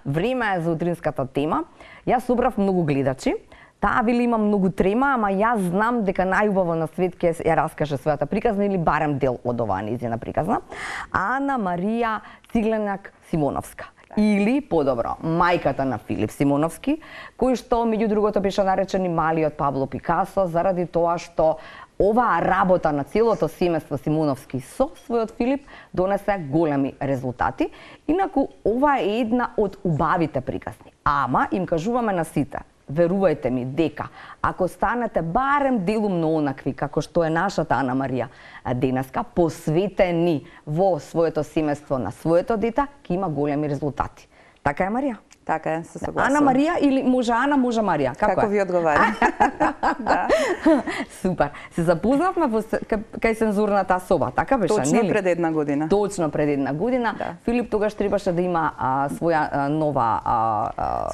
време е за утринската тема. Јас собрав многу гледачи. Таа вели има многу трема, ама јас знам дека најубаво на свет ќе ја раскаже својата приказна или барем дел од оваа нејзина приказна. Ана Марија Цигленак Симоновска. Или, подобро, мајката на Филип Симоновски, кој што, меѓу другото, беше наречен и малиот Пабло Пикасо, заради тоа што оваа работа на целото семејство Симоновски со својот Филип донесе големи резултати. Инаку, ова е една од убавите приказни. Ама, им кажуваме на сите, верувајте ми дека ако станете барем делум на онакви како што е нашата Ана Марија денеска, посветени во своето семејство на своето дете, ќе има големи резултати. Така е, Марија? Така е, се согласувам. Ана Марија или може Ана, може Марија? Како ви одговара? Да. Супер. Се запознавме кај цензурната соба, така беше, Точно нели? пред една година. Точно пред една година. Да. Филип тогаш требаше да има своја нова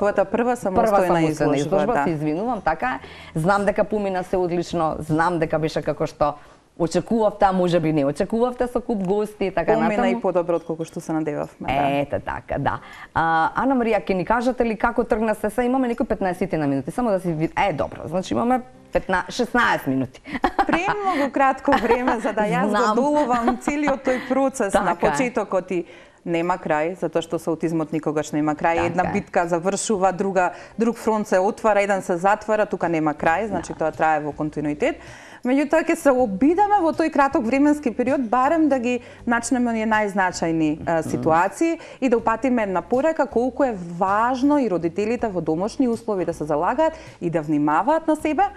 својата прва самостојна изложба, да. Се извинувам, така е. Знам дека помина се одлично, знам дека беше како што очекувавте, а може би не очекувавте со куп гости, така натаму. Помина и подобро отколку што се надевавме, да. Ете така, да. Ана Марија, ќе ни кажете ли како тргна се? Имаме некои 15 на минути, само да си добро. Значи имаме 16 минути. Премногу кратко време за да јас го доловам целиот тој процес така на почетокот и нема крај, затоа што со аутизмот никогаш нема крај. Така една битка завршува, друг фронт се отвара, еден се затвара, тука нема крај, значи тоа трае во континуитет. Меѓутоа ќе се обидеме во тој краток временски период барем да ги начнеме оние најзначајни ситуации и да упатиме една порека колку е важно и родителите во домашни услови да се залагаат и да внимаваат на себе,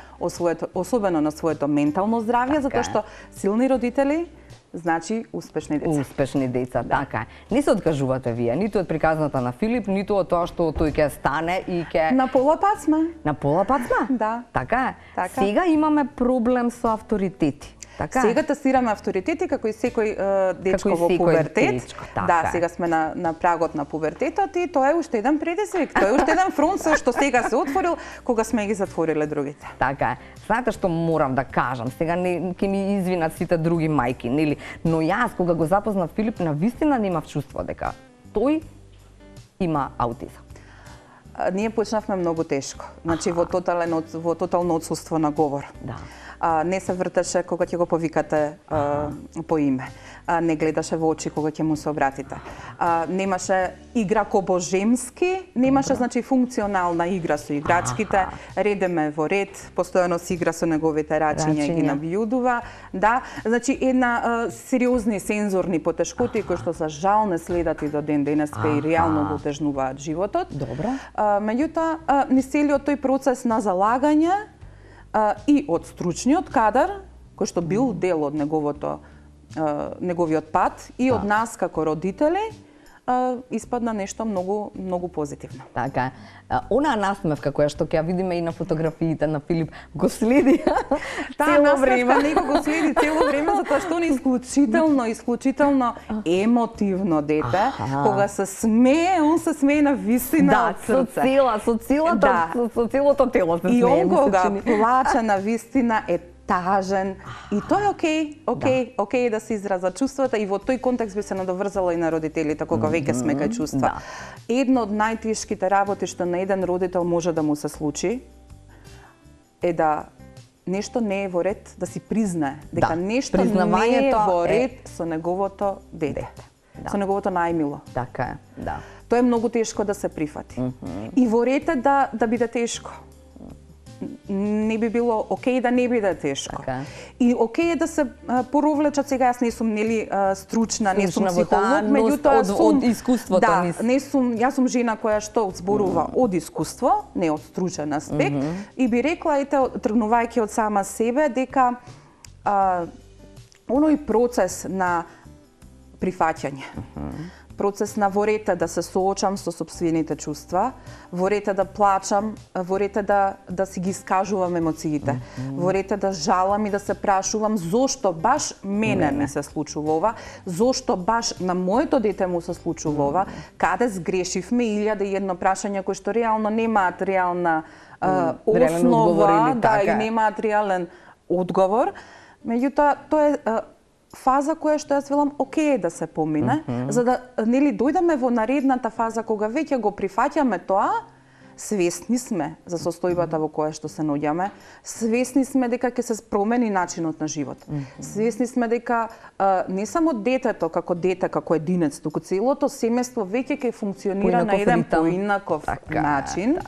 особено на своето ментално здравје, затоа што силни родители значи успешни деца. Успешни деца, така е. Не се откажувате вие, ниту од приказната на Филип, ниту од тоа што тој ќе стане и ќе... На пола пат сме. На пола пат сме? Да. Така е. Така. Сега имаме проблем со авторитети. Така сега тестираме авторитети како и секој дечко во пубертет. Да, сега сме на прагот на пубертетот и тоа е уште еден предизвик. Тоа е уште еден фронт што сега се отворил кога сме ги затвориле другите. Така е. Знаете што морам да кажам? Сега ќе ми извинат сите други мајки, нели? Но јас кога го запознав Филип, навистина немав чувство дека тој има аутизам. Ние почнавме многу тешко. Значи во тотално отсуство на говор. Да. Не се вртеше кога ќе го повикате по име. Не гледаше во очи кога ќе му се обратите. Немаше игра кобожемски, немаше значи функционална игра со играчките, редеме во ред, постојано си игра со неговите рачиња и ги набљудува. Да, значи една сериозни сензорни потешкоти кои што за жал не следат и до ден денеска и реално го отежнуваат животот. Добро. Меѓутоа, низ целиот тој процес на залагање и од стручниот кадар, кој што бил дел од неговиот пат и од нас како родители, испадна нешто многу позитивно. Така е. Онаа насмевка која што ќе ја видиме и на фотографиите на Филип го следи цело време. Таа него го следи цело време затоа што он е исклучително емотивно дете. Кога се смее, он се смее на вистина од срце. Со целото тело се смее. И он кога плаче на вистина е тажен и тоа е окей да се изразат чувствата и во тој контекст би се надоврзала и на родителите кога веќе сме кај чувства. Едно од најтешките работи што на еден родител може да му се случи е да нешто не е во ред, да си признае дека нешто не е во ред со неговото дете. Со неговото најмило. Така е, да. Тоа е многу тешко да се прифати. И во ред е да биде тешко. Не би било окей да не биде тешко. И окей е да се поровлечат, сега јас не сум стручна, не сум психолог, меѓутоа од искуството јас сум жена која што зборува од искуство, не од стручен аспект, и би рекла тргнувајќи од сама себе дека оној процес на прифаќање, процес на во ред да се соочам со сопствените чувства, во ред да плачам, во ред да си ги искажувам емоциите, во ред да жалам и да се прашувам зошто баш мене ми се случува ова, зошто баш на моето дете му се случува ова, каде сгрешивме, 1001 прашања кои што реално немаат реална основа, и немаат реален одговор. Меѓутоа, тоа е фаза која што јас велам окей да се помине, за да нели дојдеме во наредната фаза кога веќе го прифаќаме тоа, свесни сме за состојбата во која што се наоѓаме, свесни сме дека ќе се промени начинот на живот. Свесни сме дека не само детето како дете, како единец, туку целото семејство веќе ќе функционира на еден поинаков начин.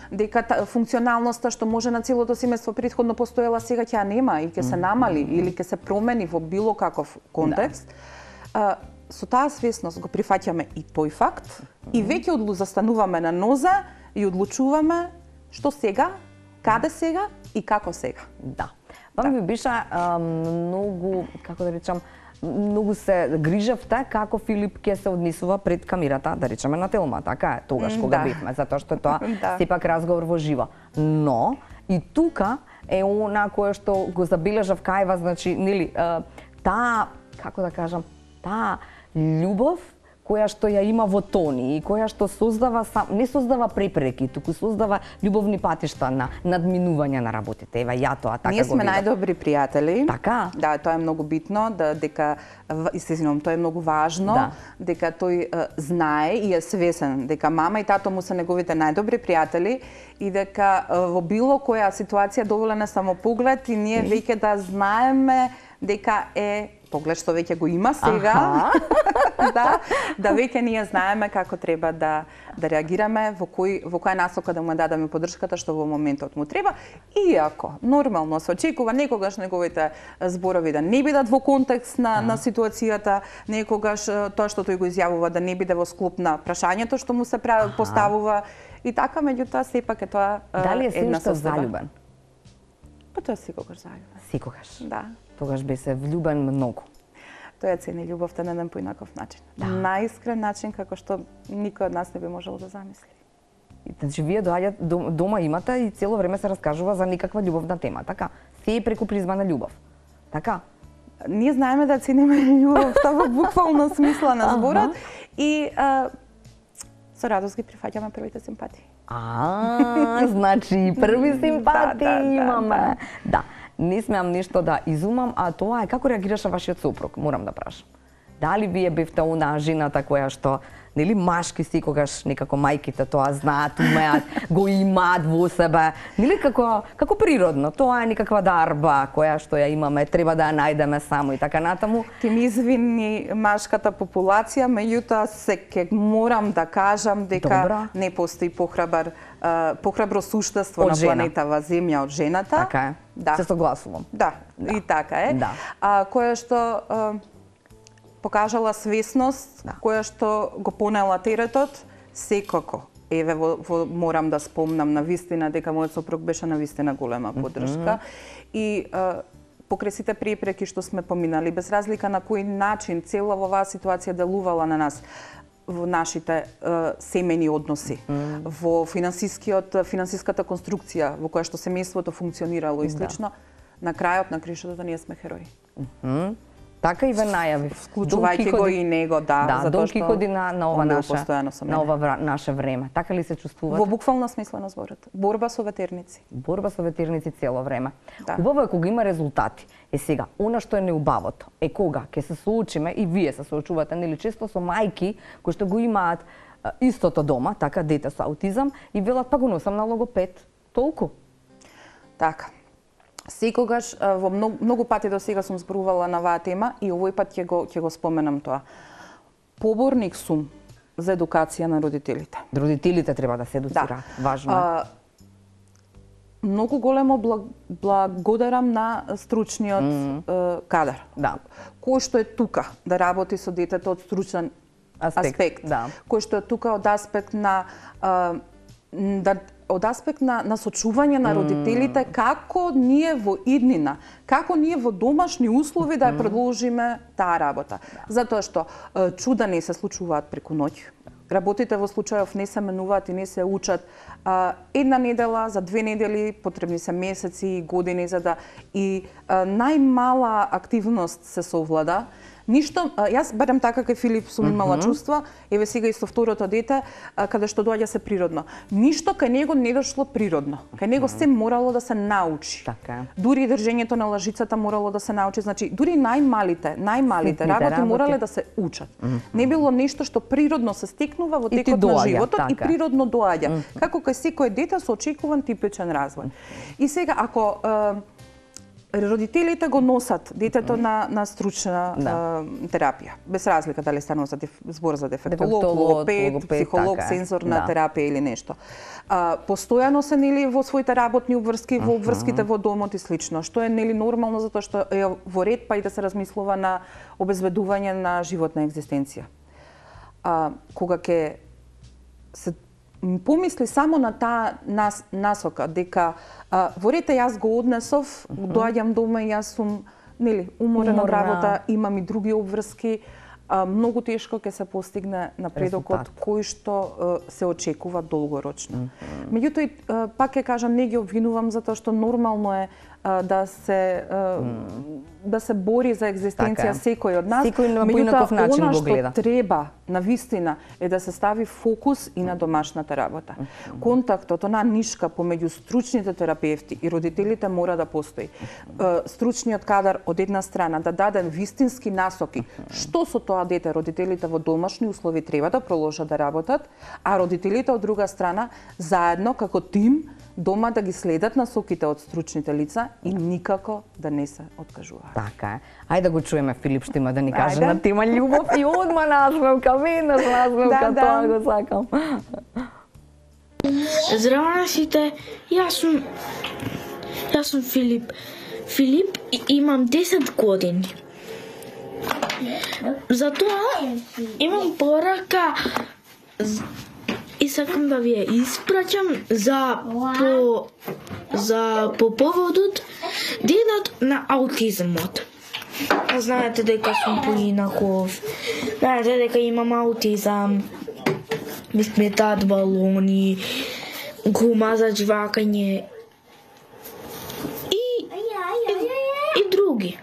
Дека функционалноста што може на целото семејство претходно постоела, сега ќе ја нема и ќе се намали или ќе се промени во било каков контекст. Со таа свесност го прифаќаме и тој факт и веќе застануваме на ноза и одлучуваме што сега, каде сега и како сега. Да. Вам би биша многу, како да речам, многу се грижавте како Филип ќе се однесува пред камерата, да речеме на Телма, така е, тогаш кога бевме, затоа што тоа сепак разговор во живо. Но и тука е она кое што го забележав кај вас, значи, нели, таа, како да кажам, таа љубов која што ја има во Тони и која што создава не создава препреки, туку создава љубовни патишта на надминување на работите. Ева ја тоа така го видам. Ние сме најдобри пријатели. Така? Да, тоа е многу битно, дека истином тоа е многу важно, дека тој знае и е свесен дека мама и тато му се неговите најдобри пријатели и дека во било која ситуација доволен е само поглед и ние веќе да знаеме дека е поглед што веќе го има сега, да веќе ние знаеме како треба да реагираме, во која насока да му дадеме поддршката што во моментот му треба, иако нормално се очекува некогаш неговите зборови да не бидат во контекст на ситуацијата, некогаш тоа што тој го изјавува да не биде во склоп на прашањето што му се поставува и така, меѓутоа сепак е тоа дали е се уште залюбен? Па тоа секогаш залюбен. Секогаш. Да. Тогаш би се влюбен многу. Тој цени љубовта на еден поинаков начин. Најискрен начин како што никој од нас не би можел да замисли. Значи вие дома имате и цело време се раскажува за никаква љубовна тема, така? Се е преку призма на љубов. Така? Ние знаеме да цениме љубовта во буквално смисла на зборот и со радост ги прифаќаме првите симпатии. Значи први симпатии имаме. Да. Не смеам нешто да изумам, а тоа е како реагираше вашиот сопруг, морам да прашам. Дали вие бевте онаа жената која што, нели, машки секогаш некако мајките тоа знаат, умеат, го имаат во себе, нели, како природно, тоа е некаква дарба која што ја имаме, треба да ја најдеме само и така натаму. Ке ми извини машката популација, меѓутоа се морам да кажам дека не постои похрабро суштество на планетава Земја од жената. Така е. Да. Се согласувам. Да, и така е. Да. Која што покажала свесност, која што го понела теретот, секако. Еве, морам да спомнам на вистина дека мојот сопруг беше на вистина голема поддршка. И покрај сите препреки што сме поминали, без разлика на кој начин цела оваа ситуација делувала на нас, во нашите семејни односи, во финансиската конструкција во која што семејството функционирало и слично, на крајот на кришето ние сме херои. Така и ве најави. Вклучувајќи го и него, затоа Дон Кихоти на ова наше време. Така ли се чувствувате? Во буквална смисла на зборот. Борба со ветерници. Борба со ветерници цело време. Убаво е кога има резултати. Сега, она што е неубавото е кога ќе се соочиме и вие се соочувате, нели, често со мајки кои што го имаат истото дома, така, дете со аутизам, и велат па го носам на логопед. Толку. Така. Секогаш во многу пати до сега сум зборувала на оваа тема и овој пат ќе го споменам тоа. Поборник сум за едукација на родителите. Родителите треба да се едуцираат, важно. Многу големо благодарам на стручниот кадар. Да. Кој што е тука да работи со детето од стручен аспект. Кој што е тука од аспект на на сочување на родителите, како ние во иднина, како ние во домашни услови да ја продолжиме таа работа. Затоа што чуда не се случуваат преку ноќ. Работите во случајов не се менуваат и не се учат една недела, за 2 недели, потребни се месеци и години за да и најмала активност се совлада. Ништо, јас барем така кај Филип сум имала чувства, еве сега и со второто дете, каде што доаѓа се природно. Ништо кај него не дошло природно. Кај него се морало да се научи. Така. Дури и држењето на лажицата морало да се научи. Значи, дури најмалите работи морале да се учат. Не било нешто што природно се стекнува во текот на животот и природно доаѓа. Како кај секое дете со очекуван типичен развој. И сега, ако родителите го носат детето на стручна терапија, без разлика дали станува за збор за дефектолог, логопед, психолог, сензорна терапија или нешто. Постојано се нели во своите работни обврски, во обврските во домот и слично, што е нели нормално затоа што е во ред па и да се размислува на обезбедување на животна екзистенција. Кога ќе се помисли само на таа насока, дека во ред јас го однесов, доаѓам дома и јас сум нели уморена од работа, имам и други обврски, многу тешко ќе се постигне напредокот кој што се очекува долгорочно. Меѓутоа, пак ќе кажам, не ги обвинувам затоа што нормално е да се бори за екзистенција секој од нас. Меѓутоа, она што треба навистина е да се стави фокус и на домашната работа. Контактот, она нишка помеѓу стручните терапевти и родителите мора да постои. Стручниот кадар од една страна да даде вистински насоки што со тоа дете родителите во домашни услови треба да продолжат да работат, а родителите од друга страна заедно како тим дома да ги следат насоките од стручните лица и никако да не се откажуваат. Така е. Ајде да го чуеме, Филип што има да ни каже на тема љубов и одма насмевка, веднаш насмевка, тоа го сакам. Здраво на сите, јас сум Филип. Филип, имам 10 години. Затоа имам порака и сакам да ви ја испраќам по поводот денот на аутизмот. Знаете дека сум поинаков, знаете дека имам аутизам, ми сметаат балони, гума за џвакање и други.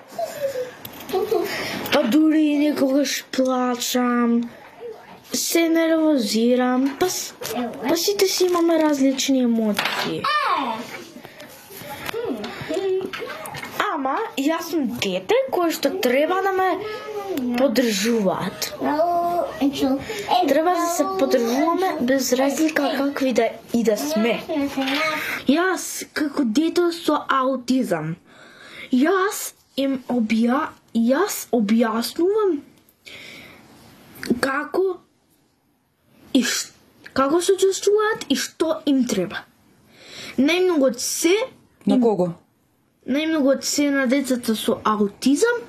Па дури некогаш плачам, се нервозирам, па сите си имаме различни емоции. Ама, јас сум дете кое што треба да ме поддржуваат. Треба да се поддржуваме без разлика какви да сме. Јас, како дете со аутизам, јас објаснувам како се чувствуваат и што им треба. Најмногу од се на кого? Најмногу од се на децата со аутизам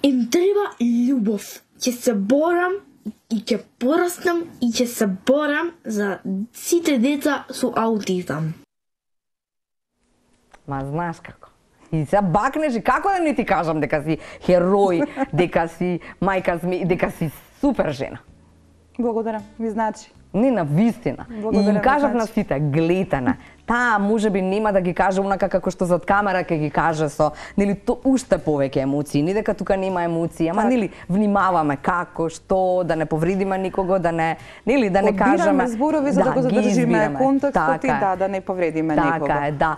им треба љубов. Ќе се борам и ќе пораснам и ќе се борам за сите деца со аутизам. Ма знаеш како? И се бакнеш и како да не ти кажам дека си херој, дека си мајка змеј, дека си супер жена. Благодарам, ви значи. Не, на вистина. И им кажав на сите, гледате на. Таа можеби нема да ги каже онака како што зад камера ќе ги каже со, нели, то уште повеќе емоции, не дека тука нема емоции, ама нели внимаваме како, што, да не повредиме никого, да не, нели, да не кажеме. Одбираме зборови за да го задржиме контекстот и да не повредиме никого. Така е, да.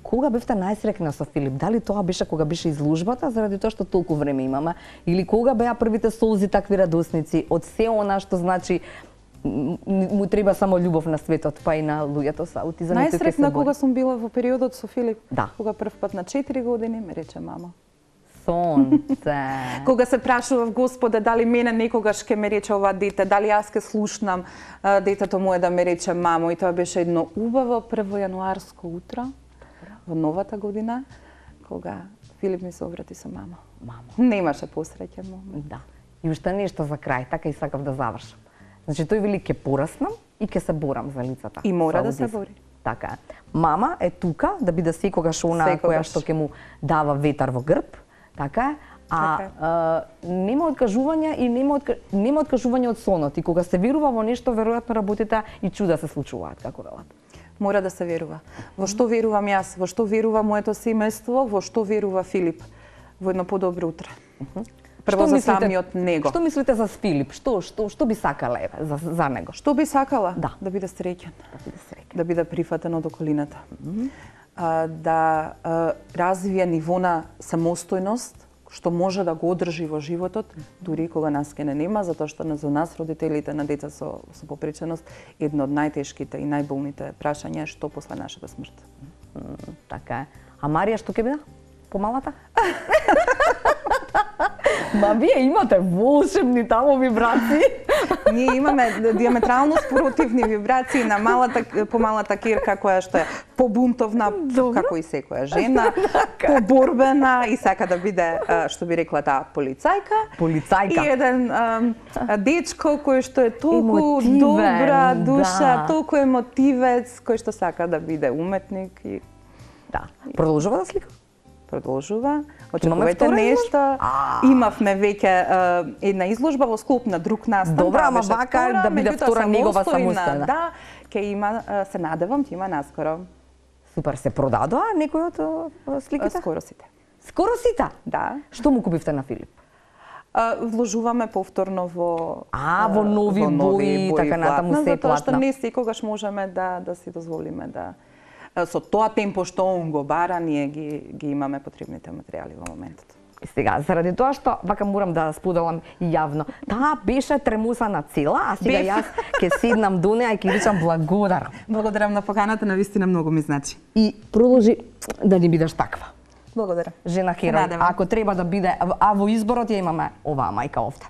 Кога бевте најсрекна со Филип? Дали тоа беше кога беше изложбата, заради тоа што толку време имаме, или кога беа првите солзи такви радосници од се она што значи му треба само љубов на светот, па и на луѓето со аутизам? Најсрекна кога сум била во периодот со Филип, да. Кога прв пат на 4 години ме рече мама. Сонце. Кога се прашував Господе дали мене некогаш ќе ме рече ова дете, дали јас ќе слушнам детето мое да ме рече мамо, и тоа беше едно убаво 1 јануарско утро во новата година, кога Филип ми се обрати со мама. Немаше посреќен момент. Да. И уште нешто за крај, така и сакав да завршам. Значи тој вели ќе пораснам и ќе се борам за лицата. И мора да се бори. Така е. Мама е тука да биде секогаш она која што ќе му дава ветар во грб, така е. Нема откажување и нема откажување од сонот. И кога се верува во нешто, веројатно работите и чуда се случуваат, како велат. Мора да се верува. Во што верувам јас, во што верува моето семејство, во што верува Филип. Во едно подобро утре. Прво за самиот него. Што мислите за Филип? Што би сакала за него? Што би сакала? Да. Да биде среќен. Да биде среќен. Да биде прифатен од околината. Да развие ниво на самостојност, што може да го одржи во животот, дури кога нас ке не нема, затоа што за нас, родителите на деца со попреченост, едно од најтешките и најболните прашања е што после нашата смрт. Така е. А Марија што ќе биде? Помалата? Ма вие имате волшебни таму вибрации. Ние имаме диаметрално спротивни вибрации на помалата Кирка која што е побунтовна, како и секоја жена, поборбена и сака да биде, што би рекла таа, полицајка. Полицајка. И еден дечко кој што е толку добра душа, толку емотивец, кој што сака да биде уметник и да. Продолжува да слика? Продолжува. Очекувате нешто. Имавме веќе една изложба во склоп на друг настан. Добра, ама вака да биде втора негова самостојна. Да, ќе има, се надевам, ќе има наскоро. Супер, се продадоа некои од сликите? Скоро сите. Скоро сите? Да. Што му купивте на Филип? Вложуваме повторно во во нови бои, така натаму се платна. Затоа што не секогаш можеме да си дозволиме да со тоа темпо што он го бара, ние ги имаме потребните материјали во моментот. И сега, заради тоа што вака морам да споделам јавно, таа беше тремусана цела, а сега јас ќе седнам до неа и ќе речам благодарам. Благодарам на поканата, навистина многу ми значи. И продолжи да ни бидеш таква. Благодарам. Жена херој, ако треба да биде, а во изборот ја имаме оваа мајка овде.